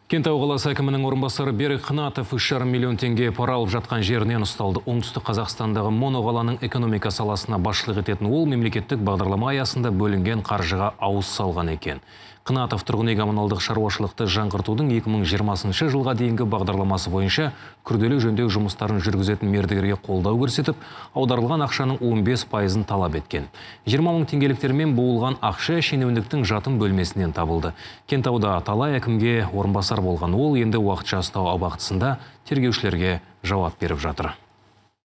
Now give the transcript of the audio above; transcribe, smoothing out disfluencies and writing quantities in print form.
Кентау қаласы әкімінің орынбасары Берік Қынатов 3,5 миллион теңге пара алып жатқан жерінен ұсталды. Оңтүстік Қазақстандағы моноқаланың экономика саласына басшылық ететін ол мемлекеттік бағдарлама аясында бөлінген қаржыға ауыз салған екен. Қынатов тұрғын үй коммуналдық шаруашылықты жаңғыртудың 2020 жылға дейінгі бағдарламасы бойынша күрделі жөндеу жұмыстарын жүргізетін мердігерге қолдау көрсетіп, аударылған ақшаның 15%-ын талап еткен. 20 мың теңгеліктермен буылған ақша шенеуніктің жатын бөлмесінен табылды. Кентауда талай әкімге орынбасар болған ол енді уақытша ұстау абақтысында тергеушілерге жауап беріп жатыр.